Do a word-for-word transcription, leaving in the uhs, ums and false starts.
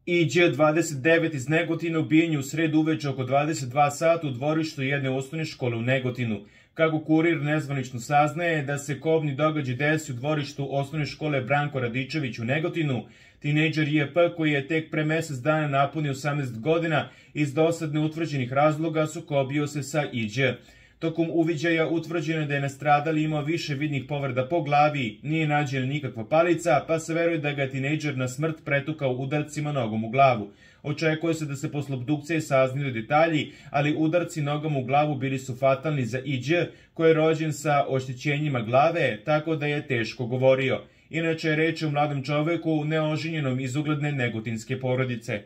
I Đ dvadeset devet iz Negotina ubijen je u sredu uveče oko dvadeset dva sata u dvorištu jedne osnovne škole u Negotinu. Kako Kurir nezvanično saznaje da se kobni događaj desi u dvorištu osnovne škole Branko Radičević u Negotinu, tinejdžer J P koji je tek pre mesec dana napunio osamnaest godina iz dosad neutvrđenih razloga sukobio se sa I Đ. Tokom uviđaja utvrđeno je da je nastradali imao više vidnih povreda po glavi, nije nađena nikakva palica, pa se veruje da ga je tinejdžer na smrt pretukao udarcima nogom u glavu. Očekuje se da se posle obdukcije saznaju detalji, ali udarci nogom u glavu bili su fatalni za I Đ, koji je rođen sa oštećenjima glave, tako da je teško govorio. Inače je reč o mladom čoveku neoženjenom iz ugledne negotinske porodice.